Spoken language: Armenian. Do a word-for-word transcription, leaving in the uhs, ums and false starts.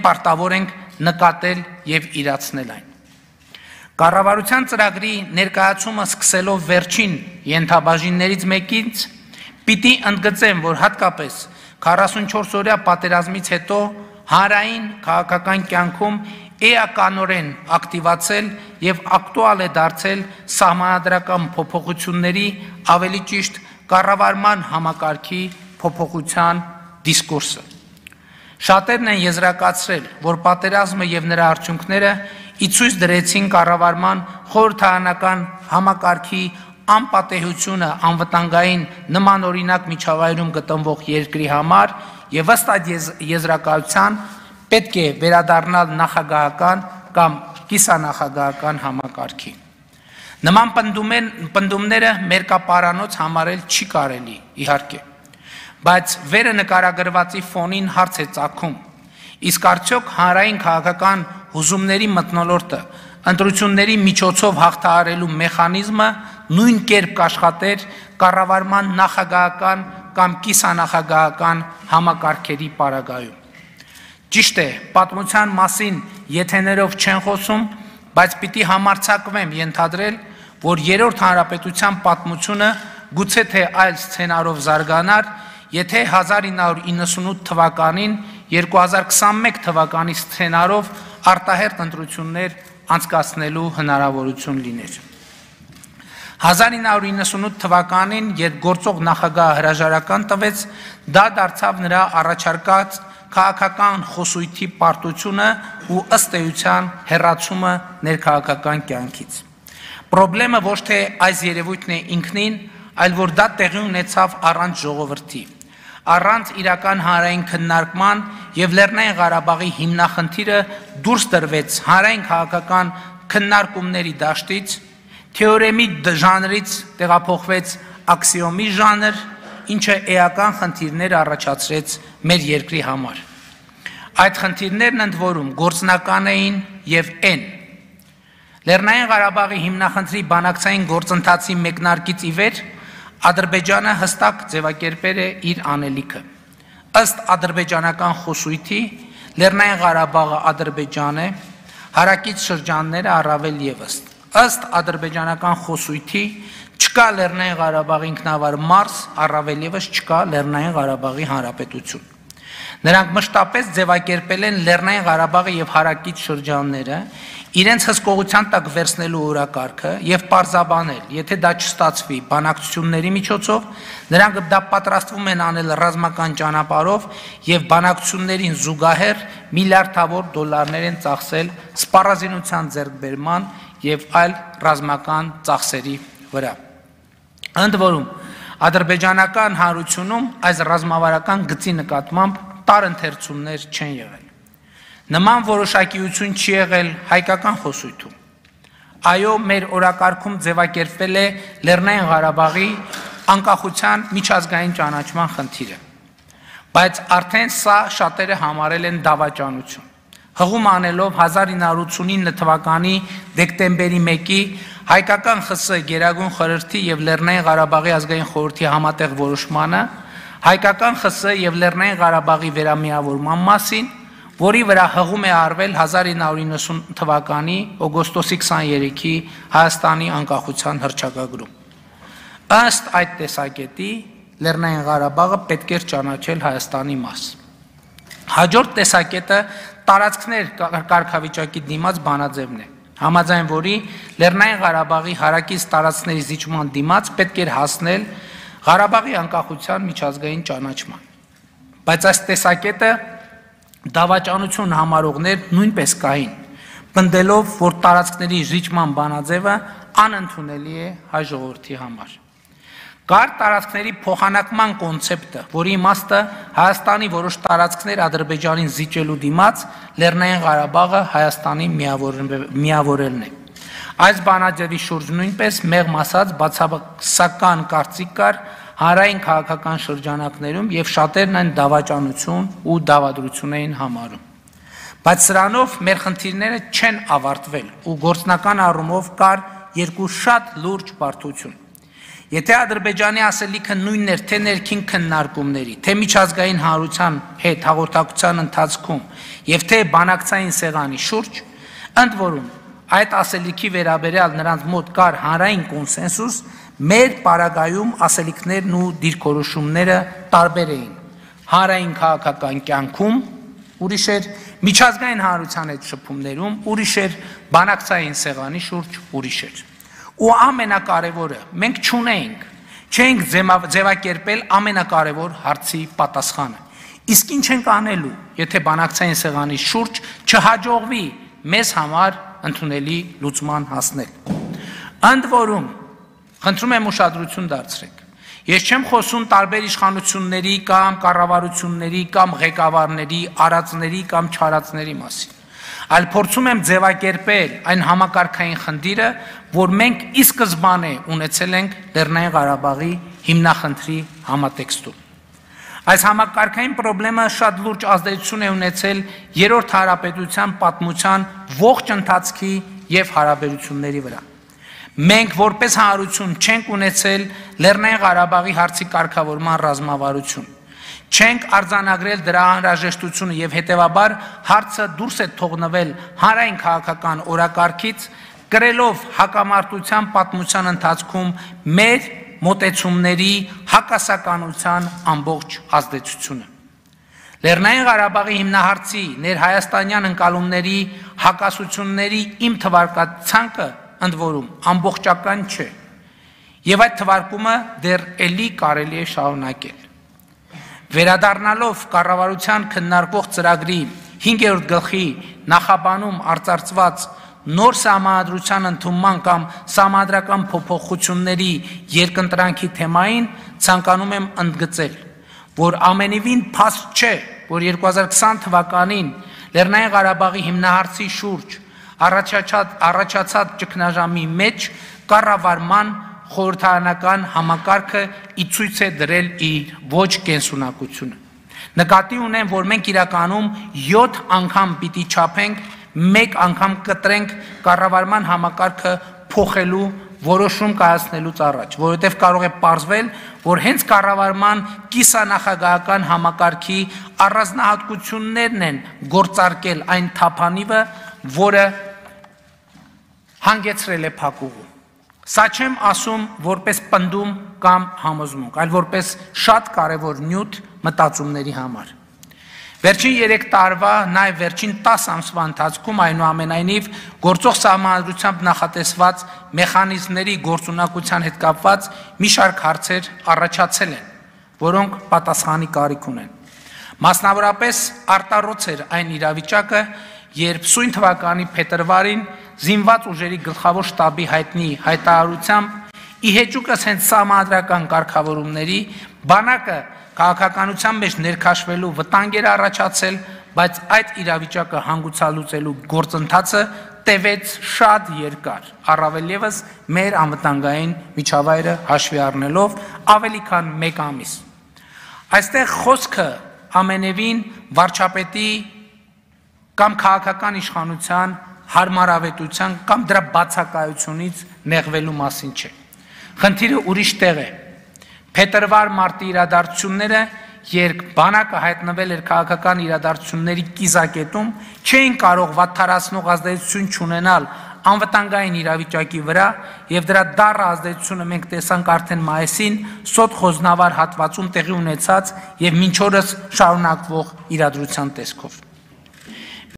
պարտավոր ենք նկատել և իրացնել այն։ Կառավարության ծրագրի ներկայացումը սկսելով վերջին ենթաբաժիններից մեկից պիտի ընդգծեմ, որ հատկապես քառասունչորս օրյա պատերազմից հետո հանրային քաղաքական կյանքում էականորեն ակտիվացել և ակտուալ է դարձել սահմանադրական փոփոխությունների, ավելի ճիշտ կառավարման համակարգի փոփոխության դիսկուրսը։ Շատերն են եզրակացրել, որ պատերազմը և նրա արդյունքները ի ցույց դրեցին կառավարման խորհրդարանական համակարգի անպատեհությունը անվտանգային նմանօրինակ միջավայրում գտնվող երկրի համար և ըստ այդ եզրակացության պետք է վերադառնալ նախագահական կամ կիսանախագահական համակարգի։ Նման պնդումները մերկապարանոց համարել չի կարելի, իհարկե, բայց վերը նկարագրվածի ֆոնին հարց է ծագում, իսկ արդյոք հանրային քաղաքական հուզումների մթնոլորտը ընտրությունների միջոցով հաղթահարելու մեխանիզմը նույն կերպ կաշխատեր կառավարման նախագահական կամ կիսանախագահական համակարգերի պարագայում։ Ճիշտ է, պատմության մասին եթեներով չեն խոսում, բայց պիտի համարձակվեմ ենթադրել, որ երրորդ հանրապետության պատմությունը գուցե թե այլ սցենարով զարգանար, եթե հազար ինը հարյուր իննսունութ թվականին երկու հազար քսանմեկ թվականի սցենարով արտահերթ ընտրություններ անցկացնելու հնարավորություն լիներ։ հազար ինը հարյուր իննսունութ թվականին, երբ գործող նախագահը հրաժարական տվեց, դա դարձավ նրա առաջարկած քաղաքական խոսույթի պարտությունը ու ըստ էության հեռացումը ներքաղաքական կյանքից։ Պրոբլեմը ոչ թե այս երևույթն է ինքնին, այլ որ դա տեղի ունեցավ առանց ժողովրդի, առանց իրական հանրային քննարկման և Լեռնային Ղարաբաղի հիմնախնդիրը դուրս տրվեց հանրային քաղաքական քննարկումների դաշտից, թեորեմի ժանրից տեղափոխվեց աքսիոմի ժանր, ինչը էական խնդիրներ առաջացրեց մեր երկրի համար։ Այդ խնդիրներն ընդ որում գործնական էին և են։ Լեռնային Ղարաբաղի հիմնախնդրի բանակցային գործընթացի մեկնարկից ի վեր Ադրբեջանը հստակ ձևակերպել է իր անելիքը։ Ըստ ադրբեջանական խոսույթի Լեռնային Ղարաբաղը Ադրբեջան է, հարակից շրջանները առավել ևս։ Ըստ ադրբեջանական խոսույթի չկա Լեռնային Ղարաբաղի ինքնավար մարզ, առավել ևս չկա Լեռնային Ղարաբաղի հանրապետություն։ Նրանք մշտապես ձևակերպել են Լեռնային Ղարաբաղը և հարակից շրջանները իրենց հսկողության տակ վերցնելու օրակարգը և պարզաբանել, եթե դա չստացվի բանակցությունների միջոցով, նրանք դա պատրաստվում են անել ռազմական ճանապարհով և բանակցություններին զուգահեռ միլիարդավոր դոլարներ են ծախսել սպառազինության ձեռքբերման և այլ ռազմական ծախսերի վրա։ Ընդ որում, ադրբեջանական հանրությունում այս ռազմավարական գծի նկատմամբ տարընթերցումներ չեն եղել։ Նման որոշակիություն չի եղել հայկական խոսույթում։ Այո, մեր օրակարգում ձևակերպվել է Լեռնային Ղարաբաղի անկախության միջազգային ճանաչման խնդիրը, բայց արդեն սա շատերը համարել են դավաճանություն։ Հղում անելով հազար ինը հարյուր ութսունինը թվականի դեկտեմբերի մեկի հայկական ԽՍՀ Գերագույն խորհրդի և Լեռնային Ղարաբաղի ազգային խորհրդի համատեղ որոշմանը, հայկական ԽՍՀ և Լեռնային Ղարաբաղի վերամիավորման մասին, որի վրա հղում է արվել հազար ինը հարյուր իննսուն թվականի օգոստոսի քսաներեքի Հայաստանի անկախության հռչակագրում։ Ըստ այդ տեսակետի Լեռնային Ղարաբաղը պետք էր ճանաչել Հայաստանի մաս։ Հաջորդ տեսակետը տարածքներ կարգավիճակի դիմաց բանաձևն է, համաձայն որի Լեռնային Ղարաբաղի հարակից տարածքների զիջման դիմաց պետք էր հասնել Ղարաբաղի անկախության միջազգային ճանաչման։ Բայց այս տեսակետը դավաճանություն համարողներ նույնպես կային, պնդելով, որ տարածքների զիջման բանաձևը անընդունելի է հայ ժողովրդի համար։ Կար տարածքների փոխանակման կոնցեպտը, որի իմաստը Հայաստանի որոշ տարածքներ Ադրբեջանին զիջելու դիմաց Լեռնային Ղարաբաղը Հայաստանի միավորելն է։ Այս բանաձևի շուրջ նույնպես մեղմ ասած բացասական կարծիք կար հանրային քաղաքական շրջանակներում և շատերն այն դավաճանություն ու դավադրություն էին համարում։ Բայց սրանով մեր խնդիրները չեն ավարտվել ու գործնական առումով կար երկու շատ լուրջ բարդություն։ Եթե Ադրբեջանի ասելիքը նույնն էր թե ներքին քննարկումների, թե միջազգային հանրության հետ հաղորդակցության ընթացքում եւ թե բանակցային սեղանի շուրջ, ընդ որում այդ ասելիքի վերաբերյալ նրանց մոտ կար հանրային կոնսենսուս, մեր պարագայում ասելիքներն ու դիրքորոշումները տարբեր էին։ Հանրային քաղաքական կյանքում ուրիշ էր, միջազգային հանրության հետ շփումներում ուրիշ էր, բանակցային սեղանի շուրջ ուրիշ էր։ Ու ամենակարևորը, մենք չունեինք, չենք ձևակերպել ամենակարևոր հարցի պատասխանը։ Իսկ ինչ ենք անելու, եթե բանակցային սեղանի շուրջ չհաջողվի մեզ համար ընդունելի լուծման հասնել։ Ընդ որում, խնդրում եմ ուշադրություն դարձրեք, ես չեմ խոսում տարբեր իշխանությունների կամ կառավարությունների կամ ղեկավարների, արածների կամ չարածների մասին, այլ փորձում եմ ձևակերպել այն համակարգային խնդիրը, որ մենք ի սկզբանե ունեցել ենք Լեռնային Ղարաբաղի հիմնախնդրի համատեքստում։ Այս համակարգային խնդրը շատ լուրջ ազդեցություն է ունեցել Երրորդ հանրապետության պատմության ողջ ընթացքի եւ հարաբերությունների վրա։ Մենք որպես հանրություն չենք ունեցել Լեռնային Ղարաբաղի հարցի կարգավորման ռազմավարություն, չենք արձանագրել դրա անհրաժեշտությունը եւ հետեւաբար հարցը դուրս է թողնվել հանրային քաղաքական օրակարգից, կրելով հակամարտության պատմության ընթացքում մեր մոտեցումների հակասականության ամբողջ ազդեցությունը։ Լեռնային Ղարաբաղի հիմնահարցի ներհայաստանյան ընկալումների հակասությունների իմ թվարկացանկը ընդ որում ամբողջական չէ, եւ այդ թվարկումը դեռ էլի կարելի է շարունակել։ Վերադառնալով կառավարության քննարկող ծրագրի հինգերորդ գլխի նախաբանում արծարծված նոր սահմանադրության ընդունման կամ սահմանադրական փոփոխությունների երկընտրանքի թեմային, ցանկանում եմ ընդգծել, որ ամենևին փաստ չէ, որ երկու հազար քսան թվականին Լեռնային Ղարաբաղի հիմնահարցի շուրջ առաջացած ճգնաժամի մեջ կառավարման խորհրդարանական համակարգը ի ցույց է դրել իր ոչ կենսունակությունը։ Նկատի ունեմ, որ մենք իրականում յոթ անգամ պիտի չափենք, մեկ անգամ կտրենք կառավարման համակարգը փոխելու որոշում կայացնելուց առաջ, որովհետև կարող է պարզվել, որ հենց կառավարման կիսանախագահական համակարգի առանձնահատկություններն են գործարկել այն թափանիվը, որը հանգեցրել է փակուղու։ Սա չեմ ասում որպես պնդում կամ համոզմունք, այլ որպես շատ կարևոր նյութ մտածումների համար։ Վերջին երեք տարվա, նաև վերջին տասը ամսվա ընթացքում այնուամենայնիվ գործող սահմանադրությամբ նախատեսված մեխանիզմների գործունակության հետ կապված մի շարք հարցեր առաջացել են, որոնք պատասխանի կարիք ունեն։ Մասնավորապես արտառոց էր այն իրավիճակը, երբ սույն թվականի փետրվարին զինված ուժերի գլխավոր շտաբի հայտնի հայտարարությամբ ի հեճուկս հենց սահմանադրական կարգավորումների բանակը քաղաքականության մեջ ներքաշվելու վտանգ էր առաջացել, բայց այդ իրավիճակը հանգուցալուծելու գործընթացը տևեց շատ երկար, առավել ևս մեր անվտանգային միջավայրը հաշվի առնելով ավելի քան մեկ ամիս։ Այստեղ խոսքը ամենևին վարչապետի կամ քաղաքական իշխանության հարմարավետության կամ դրա բացակայությունից նեղվելու մասին չէ։ Խնդիրը ուրիշ տեղ է։ Փետրվար-մարտի իրադարձությունները, երբ բանակը հայտնվել էր քաղաքական իրադարձությունների կիզակետում, չէին կարող վատթարացնող ազդեցություն չունենալ անվտանգային իրավիճակի վրա, եւ դրա դառը ազդեցությունը մենք տեսանք արդեն մայիսին Սոտ Խոզնավար հատվածում տեղի ունեցած եւ մինչ օրս շարունակվող իրադրության տեսքով։